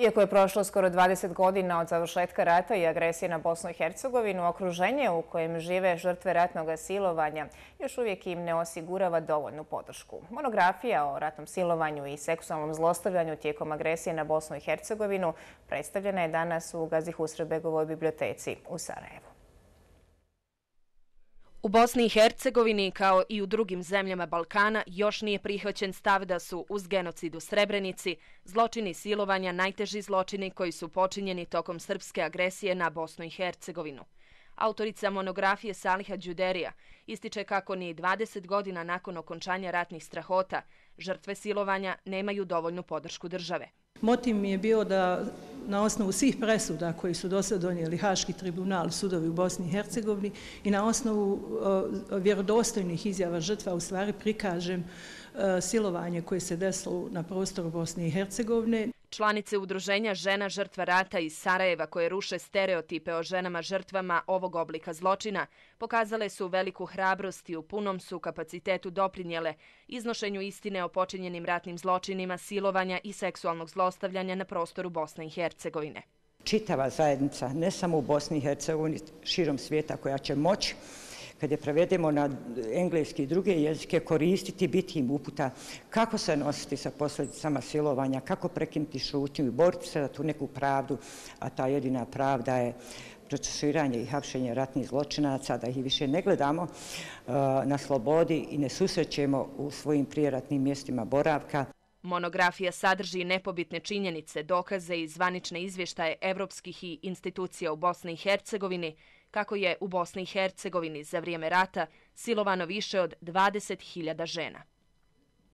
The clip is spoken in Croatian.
Iako je prošlo skoro 20 godina od završetka rata i agresije na Bosnu i Hercegovinu, okruženje u kojem žive žrtve ratnog silovanja još uvijek im ne osigurava dovoljnu podršku. Monografija o ratnom silovanju i seksualnom zlostavljanju tijekom agresije na Bosnu i Hercegovinu predstavljena je danas u Gazi Husrebegovoj biblioteci u Sarajevu. U Bosni i Hercegovini, kao i u drugim zemljama Balkana, još nije prihvaćen stav da su uz genocid u Srebrenici zločini silovanja najteži zločini koji su počinjeni tokom srpske agresije na Bosnu i Hercegovinu. Autorica monografije Saliha Đuderija ističe kako ni 20 godina nakon okončanja ratnih strahota žrtve silovanja nemaju dovoljnu podršku države. Motiv mi je bio da na osnovu svih presuda koji su do sada donijeli Haški tribunal, sudovi u Bosni i Hercegovini i na osnovu vjerodostojnih izjava žrtva u stvari prikažem silovanje koje se desilo na prostoru Bosne i Hercegovine. Članice udruženja žena žrtva rata iz Sarajeva koje ruše stereotipe o ženama žrtvama ovog oblika zločina pokazale su veliku hrabrost i u punom su kapacitetu doprinijele iznošenju istine o počinjenim ratnim zločinima, silovanja i seksualnog zlostavljanja na prostoru Bosne i Hercegovine. Čitava zajednica, ne samo u Bosni i Hercegovini, širom svijeta koja će moći, kad je prevedemo na engleski i druge jezike, koristiti, biti im uputa kako se nositi sa posljedicama silovanja, kako prekinuti šutnju i boriti se za tu neku pravdu, a ta jedina pravda je procesuiranje i hapšenje ratnih zločinaca, da ih više ne gledamo na slobodi i ne susrećemo u svojim prijeratnim mjestima boravka. Monografija sadrži nepobitne činjenice, dokaze i zvanične izvještaje evropskih i institucija u Bosni i Hercegovini, kako je u Bosni i Hercegovini za vrijeme rata silovano više od 20.000 žena.